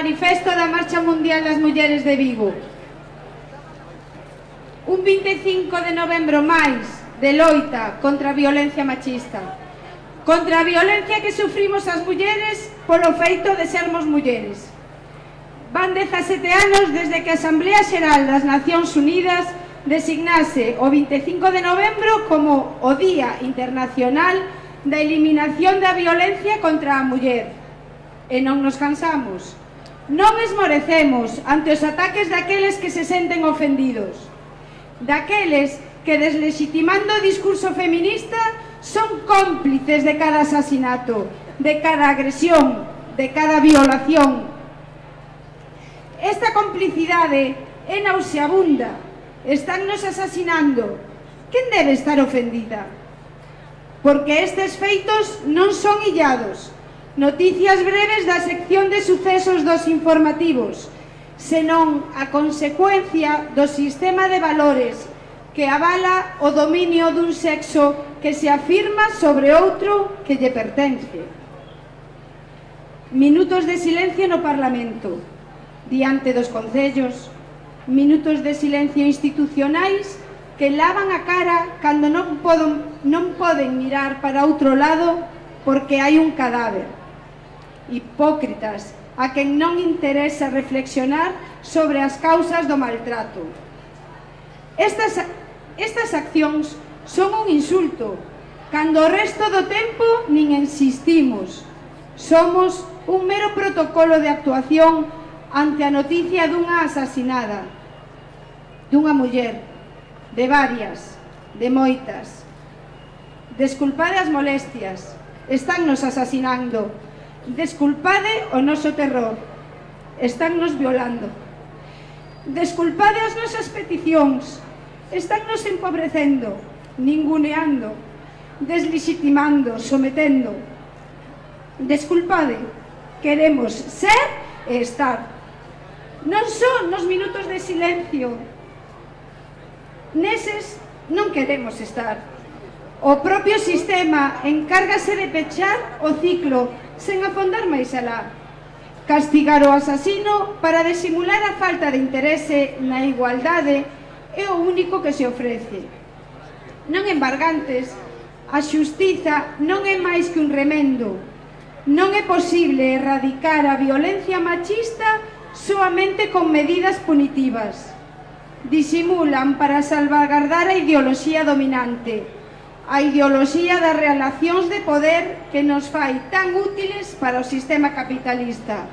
manifesto da Marcha Mundial das Mulleres de Vigo. Un 25 de novembro máis de loita contra a violencia machista, contra a violencia que sufrimos as mulleres polo feito de sermos mulleres. Van 17 anos desde que a Asamblea Xeral das Nacións Unidas designase o 25 de novembro como o Día Internacional da Eliminación da Violencia contra a Muller. E non nos cansamos, non esmorecemos ante os ataques daqueles que se senten ofendidos, daqueles que, deslegitimando o discurso feminista, son cómplices de cada asasinato, de cada agresión, de cada violación. Esta complicidade é nauseabunda, estánnos asasinando. Quen debe estar ofendida? Porque estes feitos non son illados, noticias breves da sección de sucesos dos informativos, senón a consecuencia do sistema de valores que avala o dominio dun sexo que se afirma sobre outro que lle pertence. Minutos de silencio no Parlamento, diante dos concellos, minutos de silencio institucionais que lavan a cara cando non poden mirar para outro lado porque hai un cadáver. Hipócritas a quen non interesa reflexionar sobre as causas do maltrato. Estas accións son un insulto, cando o resto do tempo nin insistimos. Somos un mero protocolo de actuación ante a noticia dunha asasinada, dunha muller, de varias, de moitas. Desculpade as molestias, estánnos asasinando. Desculpade o noso terror, estánnos violando. Desculpade as nosas peticións, estánnos empobrecendo, ninguneando, deslegitimando, sometendo. Desculpade, queremos ser e estar. Non son nos minutos de silencio, neses non queremos estar. O propio sistema encárgase de pechar o ciclo sen afondar máis alá. Castigar o asasino para disimular a falta de interese na igualdade é o único que se ofrece. Non embargantes, a xustiza non é máis que un remendo. Non é posible erradicar a violencia machista soamente con medidas punitivas. Disimulan para salvaguardar a ideoloxía dominante, a ideoloxía das relacións de poder que nos fai tan útiles para o sistema capitalista.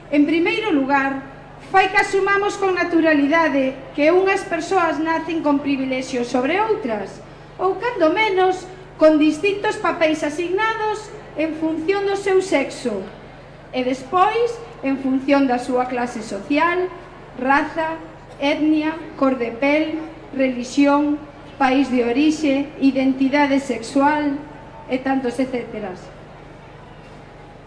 En primeiro lugar, fai que asumamos con naturalidade que unhas persoas nacen con privilexios sobre outras, ou, cando menos, con distintos papéis asignados en función do seu sexo, e despois en función da súa clase social, raza, etnia, cor de pel, religión, país de orixe, identidade sexual e tantos etcéteras.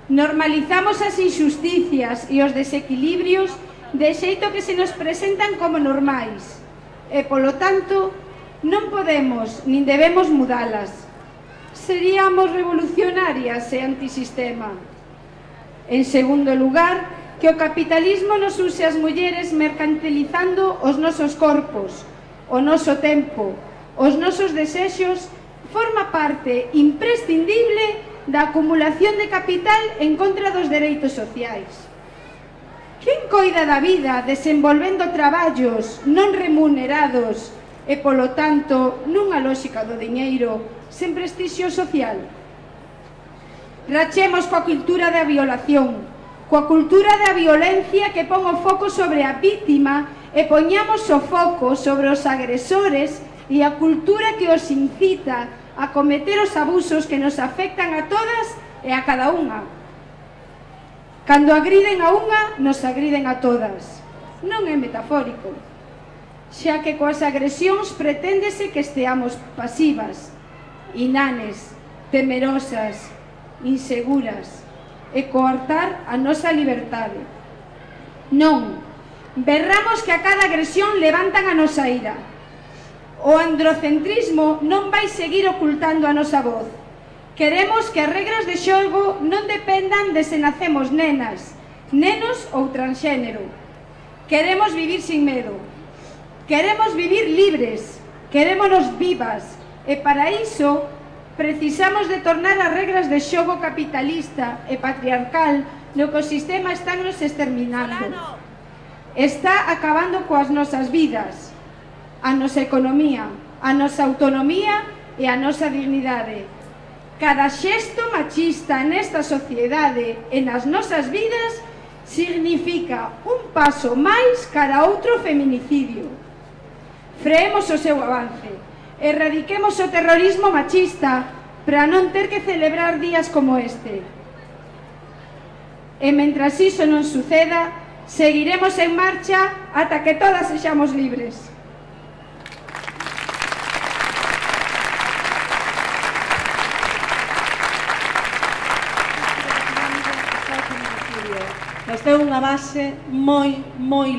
Normalizamos as injusticias e os desequilibrios de xeito que se nos presentan como normais e, polo tanto, non podemos nin debemos mudalas. Seríamos revolucionarias e antisistema. En segundo lugar, que o capitalismo nos use as mulleres mercantilizando os nosos corpos, o noso tempo, os nosos desexos, forma parte imprescindible da acumulación de capital en contra dos dereitos sociais. Quen coida da vida desenvolvendo traballos non remunerados e, polo tanto, nunha lógica do diñeiro sen prestixio social? Rachemos coa cultura da violación, coa cultura da violencia que pon o foco sobre a vítima e poñamos o foco sobre os agresores e a cultura que os incita a cometer os abusos que nos afectan a todas e a cada unha. Cando agriden a unha, nos agriden a todas. Non é metafórico, xa que coas agresións preténdese que esteamos pasivas, inanes, temerosas, inseguras, e coartar a nosa liberdade. Non, berramos que a cada agresión levantan a nosa ira. O androcentrismo non vai seguir ocultando a nosa voz. Queremos que as regras de xogo non dependan de se nacemos nenas, nenos ou transxénero. Queremos vivir sin medo. Queremos vivir libres. Querémonos vivas. E para iso precisamos de tornar as regras de xogo capitalista e patriarcal no que o sistema está nos exterminando. Está acabando coas nosas vidas, a nosa economía, a nosa autonomía e a nosa dignidade. Cada xesto machista nesta sociedade e nas nosas vidas significa un paso máis cara a outro feminicidio. Freemos o seu avance, erradiquemos o terrorismo machista para non ter que celebrar días como este. E mentras iso non suceda, seguiremos en marcha ata que todas sexamos libres. Esta é unha base moi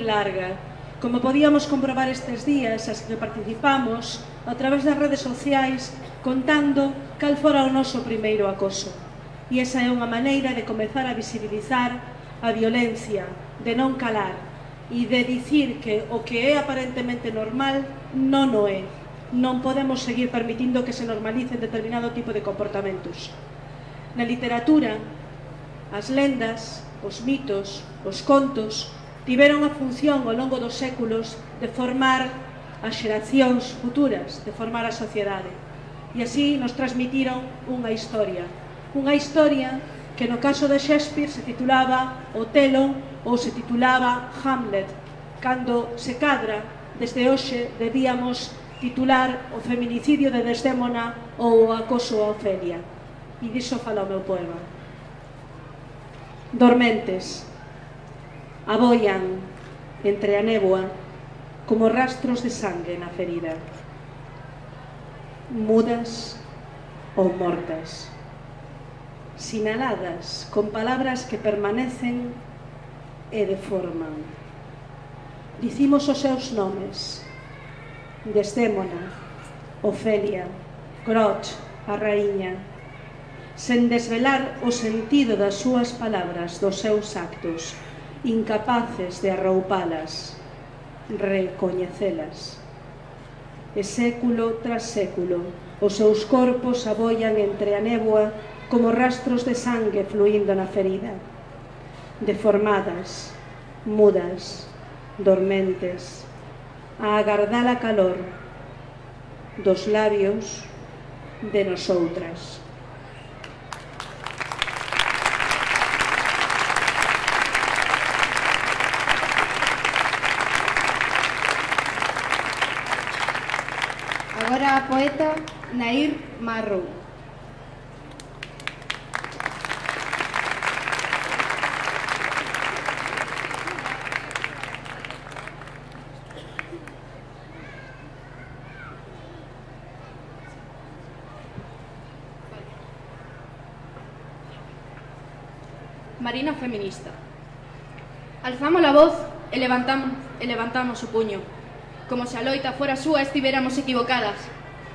larga. Como podíamos comprobar estes días, as que participamos a través das redes sociais contando cal fora o noso primeiro acoso. E esa é unha maneira de comezar a visibilizar a violencia, de non calar e de dicir que o que é aparentemente normal non o é. Non podemos seguir permitindo que se normalicen determinado tipo de comportamentos. Na literatura, as lendas, os mitos, os contos tiveron a función ao longo dos séculos de formar as xeracións futuras, de formar a sociedade. E así nos transmitiron unha historia que no caso de Shakespeare se titulaba Otelo ou se titulaba Hamlet. Cando se cadra, desde hoxe debíamos titular o feminicidio de Desdémona ou o acoso a Ofelia. E diso fala o meu poema. Dormentes, aboian entre a néboa como rastros de sangue na ferida. Mudas ou mortas, sinaladas con palabras que permanecen e deforman. Dicimos os seus nomes: Desdémona, Ofelia, Groch, a raíña, sen desvelar o sentido das súas palabras, dos seus actos, incapaces de arroupalas, recoñecelas. E século tras século, os seus corpos aboian entre a néboa como rastros de sangue fluindo na ferida, deformadas, mudas, dormentes, a agardar a calor dos labios de nosoutras. Agora a poeta Nair Marrou. Marina feminista. Alzamos a voz e levantamos o puño. Como se a loita fora súa estivéramos equivocadas.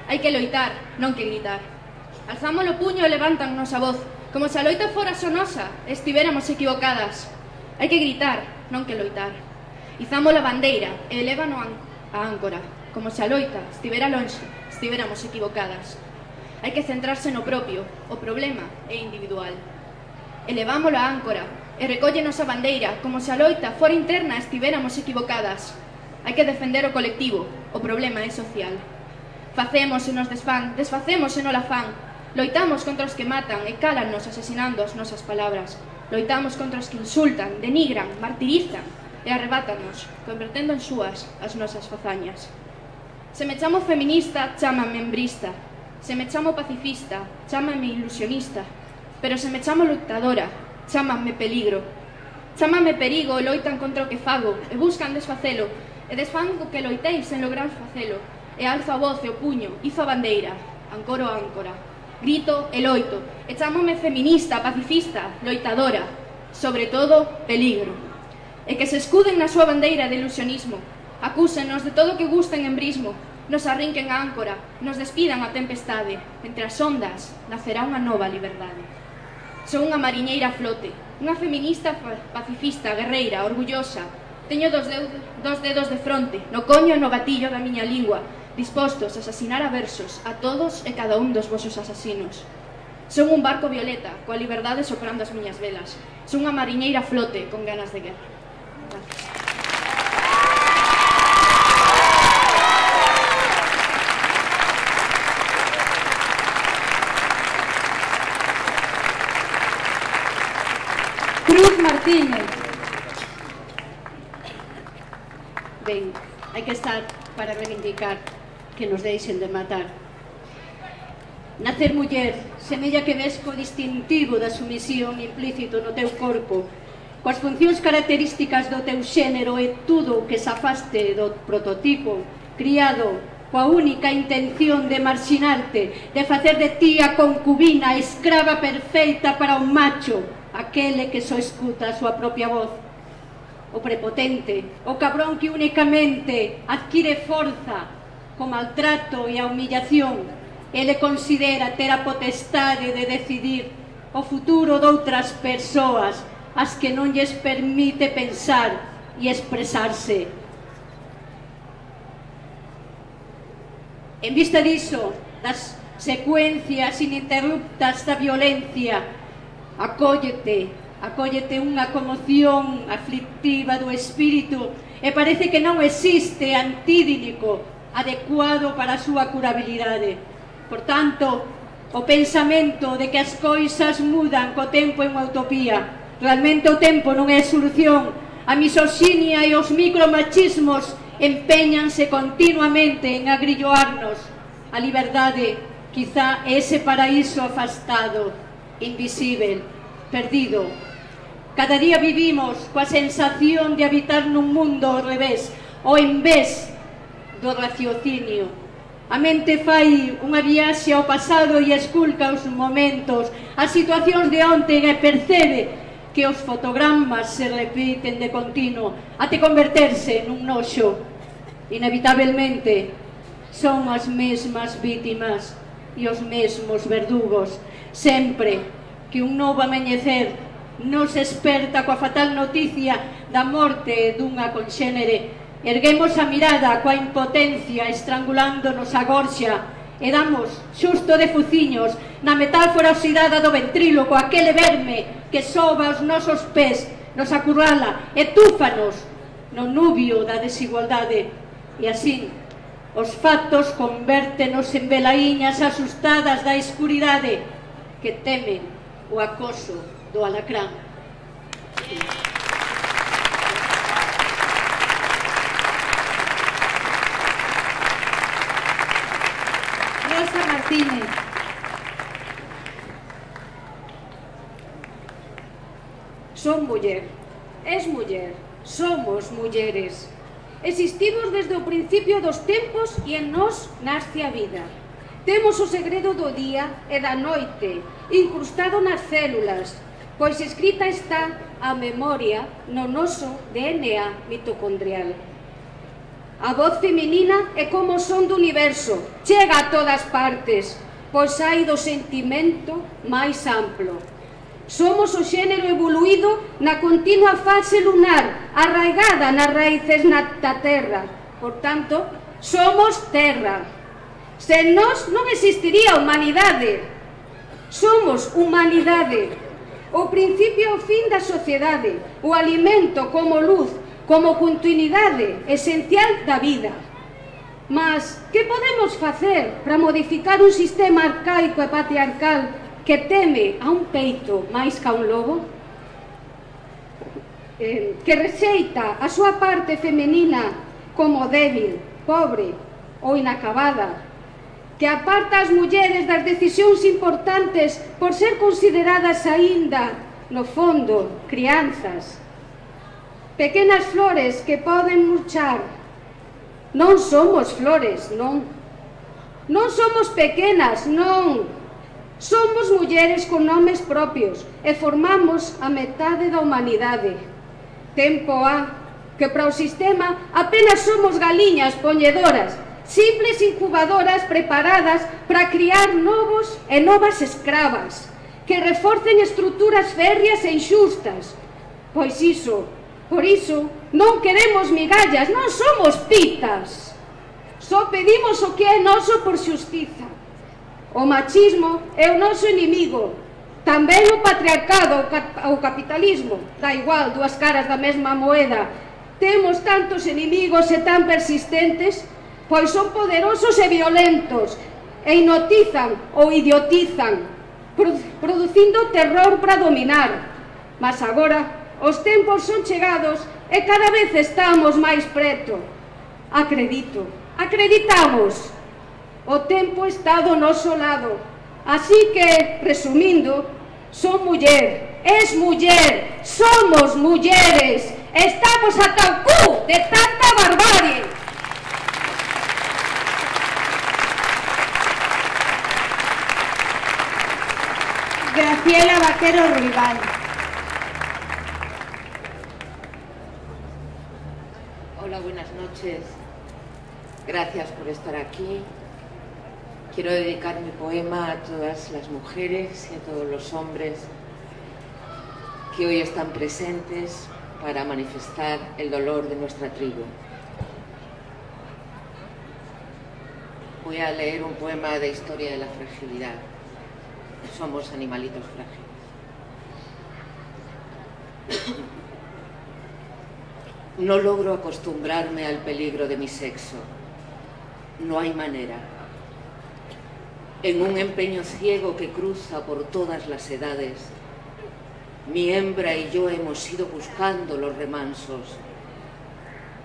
Hai que loitar, non que gritar. Alzamos o puño e levantan nosa voz. Como se a loita fora só nosa, estivéramos equivocadas. Hai que gritar, non que loitar. Izamos a bandeira e elévano a áncora. Como se a loita estivera lonxe, estivéramos equivocadas. Hai que centrarse no propio, o problema é individual. Elevámolo a áncora e recóllenos a bandeira, como se a loita fora interna estivéramos equivocadas. Hai que defender o colectivo, o problema é social. Facemos e nos desfán, desfacemos e non la fan. Loitamos contra os que matan e cálannos asesinando as nosas palabras. Loitamos contra os que insultan, denigran, martirizan e arrebátanos, convertendo en súas as nosas fazañas. Se me chamo feminista, chámame membrista. Se me chamo pacifista, chámame ilusionista. Pero se me chamo loitadora, chámame peligro. Chámame perigo e loitan contra o que fago e buscan desfacelo e desfan o que loitei sen lograr facelo. E alzo a voz e o puño, izo a bandeira, ancoro a áncora. Grito e loito e chámome feminista, pacifista, loitadora, sobre todo peligro. E que se escuden na súa bandeira de ilusionismo, acúsenos de todo o que gusten en brismo, nos arrinquen a áncora, nos despidan a tempestade. Entre as ondas nacerá unha nova liberdade. Son unha mariñeira a flote, unha feminista pacifista, guerreira, orgullosa. Teño dos dedos de fronte, no coño e no gatillo da miña lingua, dispostos a asasinar a versos a todos e cada un dos vosos asasinos. Son un barco violeta, coa liberdade soprando as miñas velas. Son unha mariñeira a flote, con ganas de guerra. Gracias. Cruz Martínez. Ben, hai que estar para reivindicar que nos deixen de matar. Nacer muller semella que ves co distintivo da sumisión implícito no teu corpo, coas funcións características do teu xénero e tudo o que se afaste do prototipo criado coa única intención de marxinarte, de facer de ti a concubina, a escrava perfeita para un macho, aquele que só escuta a súa propia voz. O prepotente, o cabrón que únicamente adquire forza co maltrato e a humillación. Ele considera ter a potestade de decidir o futuro doutras persoas, as que non lles permite pensar e expresarse. En vista diso, das secuencias ininterruptas da violencia, acóllete unha conmoción aflictiva do espírito e parece que non existe antídnico adecuado para a súa curabilidade. Por tanto, o pensamento de que as coisas mudan co tempo é unha utopía. Realmente o tempo non é solución. A misoxinia e os micromachismos empeñanse continuamente en agrilloarnos. A liberdade, quizá, é ese paraíso afastado, invisível, perdido. Cada día vivimos coa sensación de habitar nun mundo ao revés, ou en vez do raciocinio. A mente fai unha viaxe ao pasado e esculca os momentos, as situacións de onte e percebe que os fotogramas se repiten de continuo até converterse nun noxo. Inevitablemente son as mesmas vítimas e os mesmos verdugos, sempre que un novo amenecer nos esperta coa fatal noticia da morte dunha conxénere. Erguemos a mirada coa impotencia estrangulándonos a gorxa e damos xusto de fuciños na metáfora oxidada do ventríloco, aquele verme que soba os nosos pés, nos acurrala e túfanos no nubio da desigualdade. E así, os factos convértenos en velaíñas asustadas da escuridade que temen o acoso do alacrán. Rosa Martínez. Son muller, es muller, somos mulleres. Existimos desde o principio dos tempos e en nós nasce a vida. Temos o segredo do día e da noite incrustado nas células, pois escrita está a memoria no noso DNA mitocondrial. A voz feminina é como o son do universo, chega a todas partes, pois hai do sentimento máis amplo. Somos o xénero evoluído na continua fase lunar, arraigada nas raíces da terra. Por tanto, somos terra. Sen nós non existiría a humanidade. Somos humanidade. O principio e o fin da sociedade, o alimento como luz, como continuidade esencial da vida. Mas, que podemos facer para modificar un sistema arcaico e patriarcal que teme a un peito máis ca un lobo? Que rexeita a súa parte femenina como débil, pobre ou inacabada, que aparta as mulleres das decisións importantes por ser consideradas aínda, no fondo, crianzas. Pequenas flores que poden murchar. Non somos flores, non. Non somos pequenas, non. Somos mulleres con nomes propios e formamos a metade da humanidade. Tempo há que para o sistema apenas somos galiñas poñedoras, simples incubadoras preparadas para criar novos e novas escravas, que reforcen estruturas férreas e inxustas. Pois por iso, non queremos migallas, non somos pitas. Só pedimos o que é noso por xustiza. O machismo é o noso inimigo, tamén o patriarcado, o capitalismo. Da igual, dúas caras da mesma moeda. Temos tantos inimigos e tan persistentes, pois son poderosos e violentos, e hipnotizan ou idiotizan, producindo terror para dominar. Mas agora os tempos son chegados e cada vez estamos máis preto. Acreditamos. O tempo está do noso lado. Así que, resumindo, son muller, es muller, somos mulleres, estamos ata o cu de tanta barbarie. Graciela Vaquero Ruibal. Hola, buenas noches. Gracias por estar aquí. Quiero dedicar mi poema a todas las mujeres y a todos los hombres que hoy están presentes para manifestar el dolor de nuestra tribu. Voy a leer un poema de historia de la fragilidad. Somos animalitos frágiles. No logro acostumbrarme al peligro de mi sexo. No hay manera. En un empeño ciego que cruza por todas las edades, mi hembra y yo hemos ido buscando los remansos,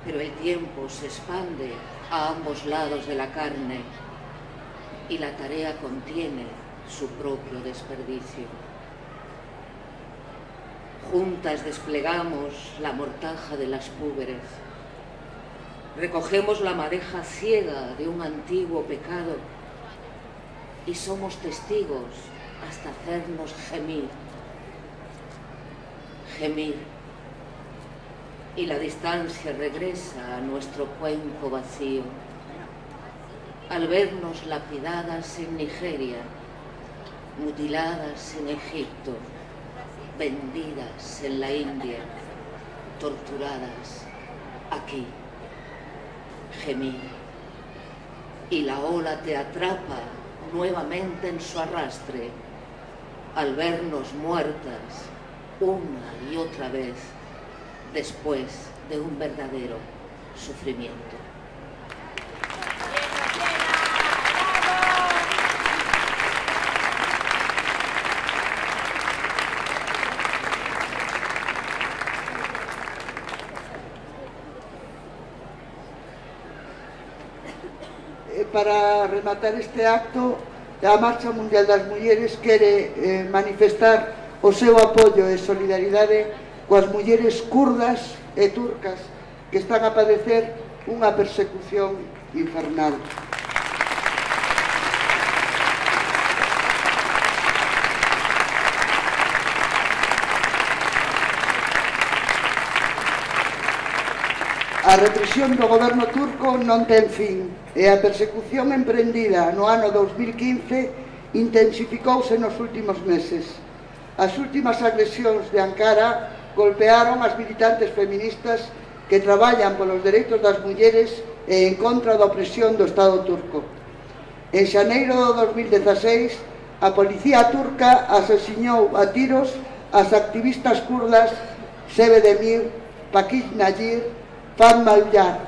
pero el tiempo se expande a ambos lados de la carne y la tarea contiene su propio desperdicio. Juntas desplegamos la mortaja de las púberes, recogemos la madeja ciega de un antiguo pecado y somos testigos hasta hacernos gemir. Y la distancia regresa a nuestro cuenco vacío al vernos lapidadas en Nigeria, mutiladas en Egipto, vendidas en la India, torturadas aquí. Gemir. Y la ola te atrapa nuevamente en su arrastre al vernos muertas una y otra vez después de un verdadero sufrimiento. Para rematar este acto, a Marcha Mundial das Mulleres quere manifestar o seu apoio e solidaridade coas mulleres kurdas e turcas que están a padecer unha persecución infernal. A represión do goberno turco non ten fin e a persecución emprendida no ano 2015 intensificouse nos últimos meses. As últimas agresións de Ankara golpearon as militantes feministas que traballan polos dereitos das mulleres e en contra da opresión do Estado turco. En xaneiro do 2016, a policía turca asesinou a tiros as activistas kurdas Sebe Demir, Pakiz Nayir, Fatma Uyar.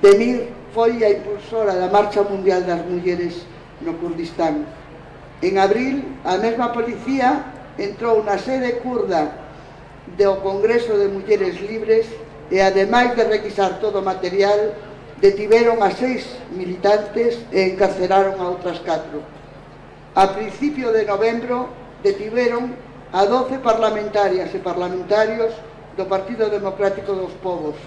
Demir foi a impulsora da Marcha Mundial das Mulleres no Kurdistán. En abril, a mesma policía entrou na sede kurda do Congreso de Mulleres Libres e, ademais de requisar todo o material, detiveron a 6 militantes e encarceraron a outras 4. A principio de novembro, detiveron a 12 parlamentarias e parlamentarios do Partido Democrático dos Povos,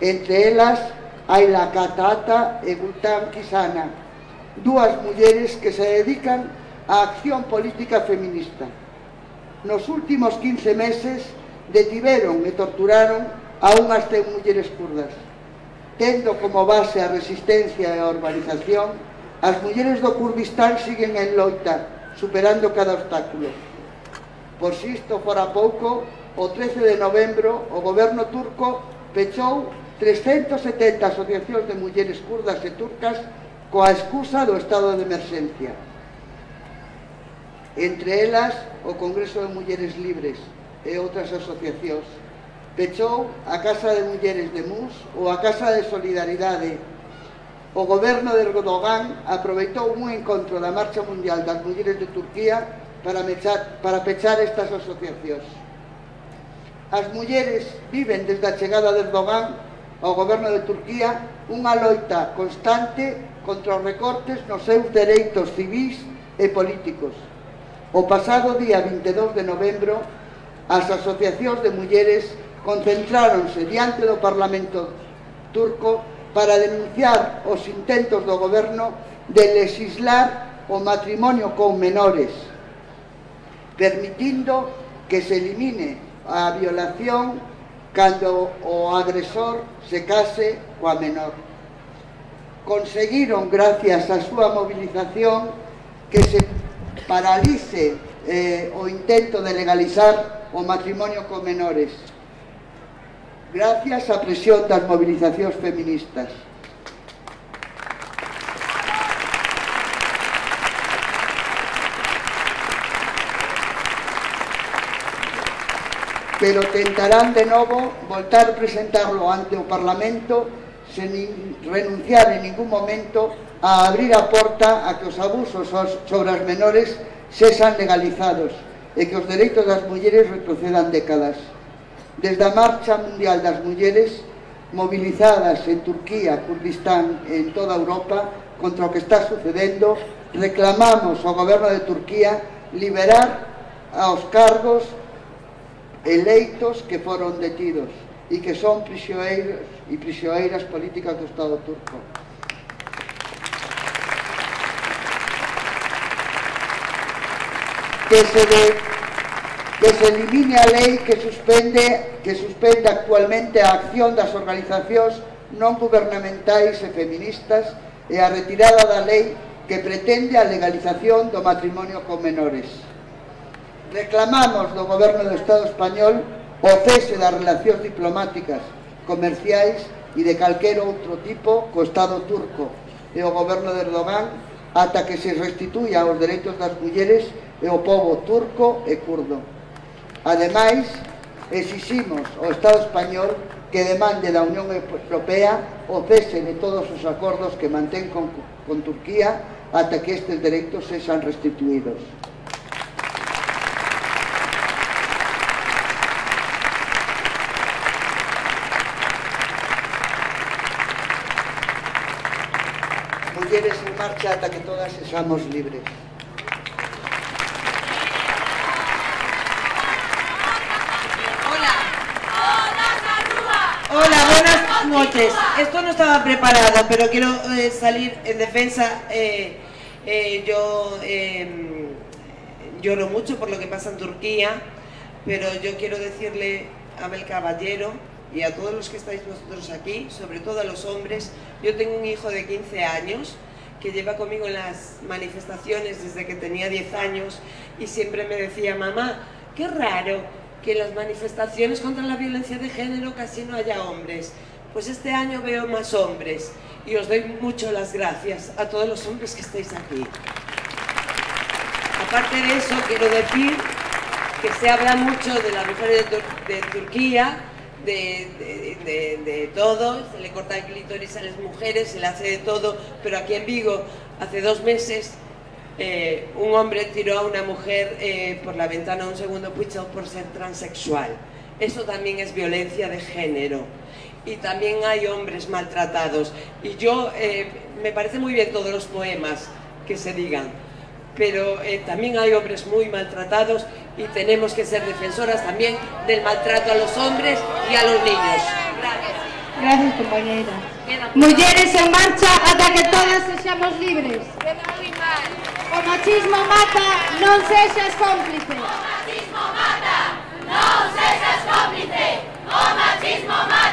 entre elas Ayla Katata e Gultam Kisana, dúas mulleres que se dedican á acción política feminista. Nos últimos 15 meses detiveron e torturaron a unhas 100 mulleres kurdas. Tendo como base a resistencia e a urbanización, as mulleres do Kurdistán siguen en loita, superando cada obstáculo. Por si isto fora pouco, o 13 de novembro o goberno turco pechou 370 asociacións de mulleres kurdas e turcas coa excusa do estado de emerxencia. Entre elas, o Congreso de Mulleres Libres e outras asociacións. Pechou a Casa de Mulleres de Mus ou a Casa de Solidaridade. O goberno de Erdogan aproveitou un encontro da Marcha Mundial das Mulleres de Turquía para pechar estas asociacións. As mulleres viven desde a chegada de Erdogan ao goberno de Turquía unha loita constante contra os recortes nos seus dereitos civis e políticos. O pasado día 22 de novembro, as asociacións de mulleres concentráronse diante do Parlamento turco para denunciar os intentos do goberno de legislar o matrimonio con menores, permitindo que se elimine a violación cando o agresor se case coa menor. Conseguiron, gracias á súa movilización, que se paralice o intento de legalizar o matrimonio con menores, gracias á presión das movilizacións feministas. Pero tentarán de novo voltar a presentarlo ante o Parlamento sen renunciar en ningún momento a abrir a porta a que os abusos sobre as menores sexan legalizados e que os dereitos das mulleres retrocedan décadas. Desde a Marcha Mundial das Mulleres, movilizadas en Turquía, Kurdistán e en toda Europa contra o que está sucedendo, reclamamos ao goberno de Turquía liberar aos cargos eleitos que foron detidos e que son prisioneiros e prisioneiras políticas do Estado turco. Que se elimine a lei que suspende actualmente a acción das organizacións non gubernamentais e feministas e a retirada da lei que pretende a legalización do matrimonio con menores. Reclamamos do goberno do Estado español o cese das relacións diplomáticas, comerciais e de calquer outro tipo co Estado turco e o goberno de Erdogan ata que se restituya os dereitos das mulleres e o pobo turco e kurdo. Ademais, exiximos ao Estado español que demande da Unión Europea o cese de todos os acordos que mantén con Turquía ata que estes dereitos sexan restituídos. Mulleres en marcha ata que todas sexamos libres. Hola, buenas noches. Esto no estaba preparado, pero quiero salir en defensa. Yo lloro mucho por lo que pasa en Turquía, pero yo quiero decirle a Abel Caballero y a todos los que estáis vosotros aquí, sobre todo a los hombres. Yo tengo un hijo de 15 años que lleva conmigo en las manifestaciones desde que tenía 10 años y siempre me decía: mamá, qué raro que en las manifestaciones contra la violencia de género casi no haya hombres. Pues este año veo más hombres y os doy mucho las gracias a todos los hombres que estáis aquí. Aparte de eso, quiero decir que se habla mucho de las mujeres de Turquía, de todo, se le corta el clítoris a las mujeres, se le hace de todo, pero aquí en Vigo, hace 2 meses, un hombre tiró a una mujer por la ventana de un segundo piso por ser transexual. Eso también es violencia de género. Y también hay hombres maltratados. Y yo, me parece muy bien todos los poemas que se digan, pero también hay hombres muy maltratados y tenemos que ser defensoras también del maltrato a los hombres y a los niños. Gracias. Gracias, compañera. Mulleres en marcha ata que todas sexamos libres. O machismo mata, non sexas cómplice. O machismo mata, non sexas cómplice. O machismo mata.